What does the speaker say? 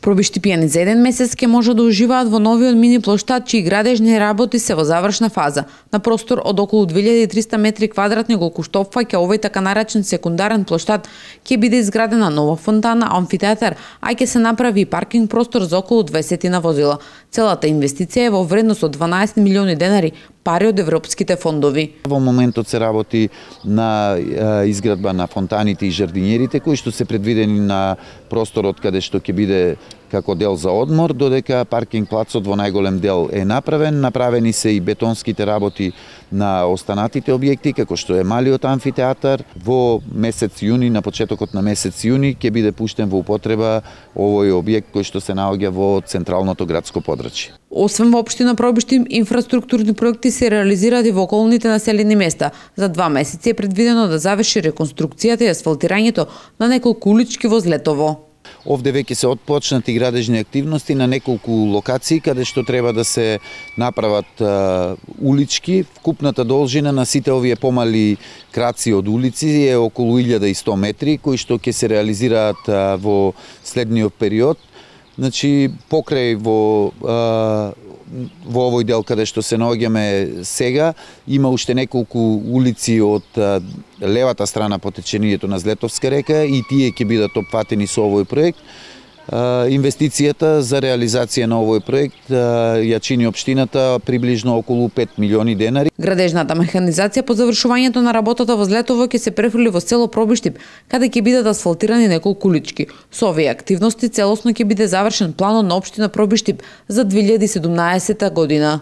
Пробиштипјани за еден месец ќе може да уживаат во новиот мини плоштад, чии градежни работи се во завршна фаза. На простор од околу 2300 метри квадратни, колку што опфаќа овој така наречен секундарен плоштад, ќе биде изградена нова фонтана, амфитеатар, а ќе се направи и паркинг простор за околу 20 возила. Целата инвестиција е во вредност од 12 милиони денари, пари од европските фондови. Во моментот се работи на изградба на фонтаните и жардинјерите, кои што се предвидени на просторот каде што ќе биде како дел за одмор, додека паркинг плацот во најголем дел е направен. Направени се и бетонските работи на останатите објекти, како што е малиот амфитеатар. Во месец јуни, на почетокот на месец јуни, ќе биде пуштен во употреба овој објект кој што се наоѓа во централното градско подрачје. Освен во општина Пробиштип, инфраструктурни проекти се реализираат и во околните населени места. За 2 месеци е предвидено да заврши реконструкцијата и асфалтирањето на неколку улички во Злетово. Овде веќе се отпочнати градежни активности на неколку локации каде што треба да се направат улички. Вкупната должина на сите овие помали краци од улици е околу 1100 метри, кои што ќе се реализираат во следниот период. Значи, покрај во овој дел каде што се наоѓаме сега, има уште неколку улици од левата страна по течението на Злетовска река и тие ќе бидат опфатени со овој проект. Инвестицијата за реализација на овој проект ја чини општината приближно околу 5 милиони денари. Градежната механизација по завршувањето на работата во Злетово ќе се префрли во село Пробиштип, каде ќе бидат асфалтирани неколку улички. Со овие активности целосно ќе биде завршен планот на општина Пробиштип за 2017 година.